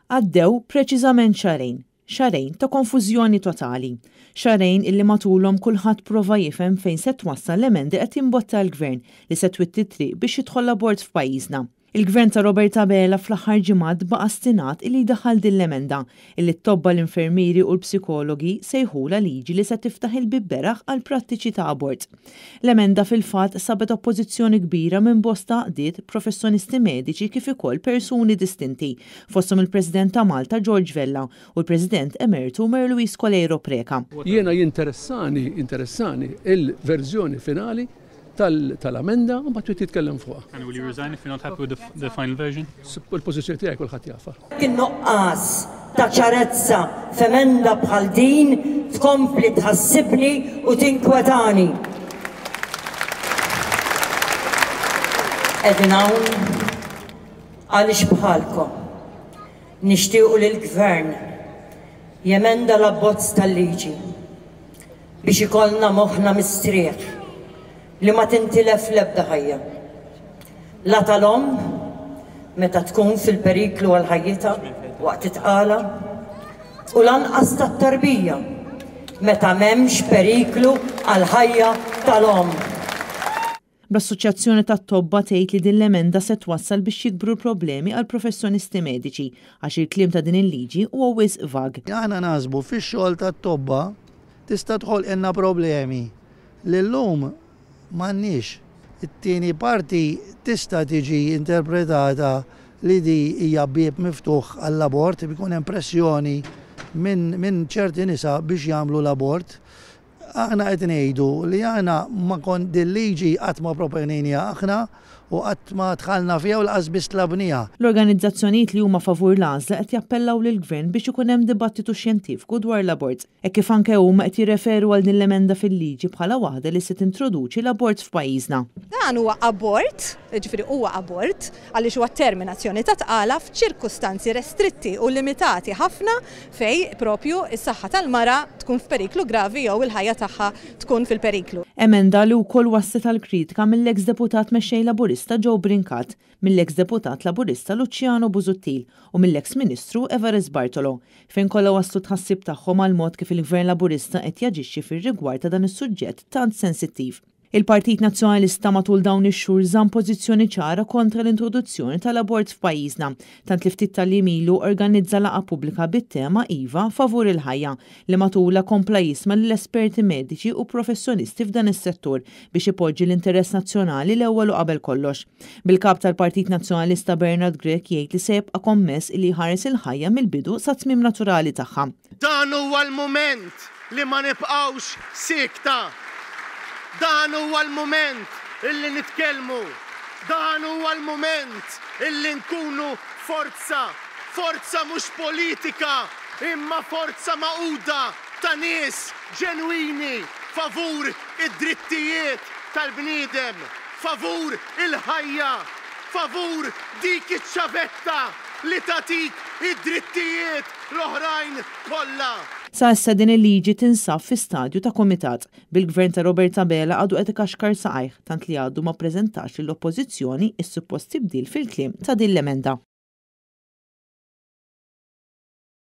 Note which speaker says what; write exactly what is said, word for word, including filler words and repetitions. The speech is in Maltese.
Speaker 1: Għaddew preċiżament xahrejn, xahrejn ta' konfużjoni totali. Xahrejn illi matulhom kulħadd prova jifhem fejn se twassal l-emendi qed jimbotta l-gvern li se twitti triq biex jidħol l-abort f'pajjiżna. Il-gvern ta' Robert Abela fl-aħħar ġimgħat baqa' stinat illi jdaħħal din l-emenda illi t-tobba, l-infermieri u l-psikologi sejħula liġi li se tiftaħ il-bieb beraħ għal prattiċi ta' abort. L-emenda fil-fatt sabet oppożizzjoni kbira minn bosta għaqdiet, professjonisti mediċi kif ukoll persuni distinti, fosthom il-President ta' Malta George Vella u l-President Emeritu Mary Louise Coleiro Preca.
Speaker 2: Jiena jinteressani, interessani il-verżjoni finali tal-amenda u mbagħad titkellem fuqha.
Speaker 3: And will you resign if you're not happy with the, the final version?
Speaker 2: Il-pożizzjoni tiegħi kulħadd jafha.
Speaker 4: In-nuqqas ta' ċarezza f'emenda bħal din tkompli tħassibni u tinkwetani. Qegħdin hawn għaliex bħalkom nixtiequ li l-gvern jemenda l-abbozz tal-liġi biex ikollna moħħna mistrieħ li ma tintilef l-ebda ħajja. La tal-omm meta tkun fil-periklu għal ħajjitha waqt it-tqala u lanqas tat-tarbija meta m'hemmx periklu għal ħajja tal-omm.
Speaker 1: Bl-Assoċjazzjoni tat-Tobba tgħid li din l-emenda se twassal biex jikbru l-problemi għal professjonisti mediċi għax il-kliem ta' din il-liġi huwa wisq vag.
Speaker 5: Aħna naħsbu fix-xogħol tat-tobba tista' tħolqilna problemi li llum m'għandniex. It-tieni parti tista' tiġi interpretata li di hija bieb miftuħ għall-abort, ikun hemm pressjoni minn min ċerti nisa biex jagħmlu l-abort. Aħna qed ngħidu li aħna ma kon din liġi qatt ma proponejniha aħna u qatt ma dħalna fiha u lanqas biss tlabniha.
Speaker 1: L-organizzazzjonijiet li huma favur l-għażla qed jappellaw lill-gvern biex ikun hemm dibattitu xjentifiku dwar l-abort. E kif anke huma qed jirreferu għal din l-emenda fil-liġi bħala waħda li se tintroduċi l-abort f'pajjiżna.
Speaker 6: Dan huwa abort, jiġifieri huwa abort, għaliex huwa terminazzjoni ta' tqala f'ċirkustanzi restritti u limitati ħafna fej propju is-saħħa tal-mara tkun f'periklu gravi jew il-ħajja tagħha tkun fil-periklu.
Speaker 1: Emenda li wkoll wasslet għal kritika mill-eks deputat mexxej Laburista Joe Brincat, mill-eks deputat Laburista Luciano Busuttil u mill-eks Ministru Evarist Bartolo, fejn kollha waslu tħassib tagħhom għal mod kif il-Gvern Laburista qed jaġixxi fir-rigward ta' dan is-suġġett tant sensittiv. Il-Partit Nazzjonalista matul dawn ix-xhur żamm pożizzjoni ċara kontra l-introduzzjoni tal-abort f'pajjiżna, tant li ftit tal-jiem ilu organizza laqgħa pubblika bit-tema Iva favur il-ħajja li matulha kompla jisma' lill-esperti mediċi u professjonisti f'dan is-settur biex ipoġġi l-interess nazzjonali l-ewwel u qabel kollox. Bil-kap tal-Partit Nazzjonalista Bernard Grech jgħid li se jibqa' kommess li jħares il-ħajja mill-bidu sa tmiem naturali tagħha.
Speaker 7: Dan huwa l-mument li ma nibqgħux siekta. Dan huwa l-mument illi nitkellmu. Dan huwa l-mument illi nkunu forza, forza mhux politika, imma forza magħquda ta' nies ġenwini favur id-drittijiet tal-bniedem, favur il-ħajja, favur dik iċ-ċavetta li tagħtik id-drittijiet l-oħrajn kollha.
Speaker 1: Sa issa din il-liġi tinsab fi stadju ta' komitat, bil-gvern ta' Robert Abela għadu qed ikaxkar saqajh tant li għadu ma ppreżentax lill-oppożizzjoni is-suppost tibdil fil-kliem ta' din l-emenda.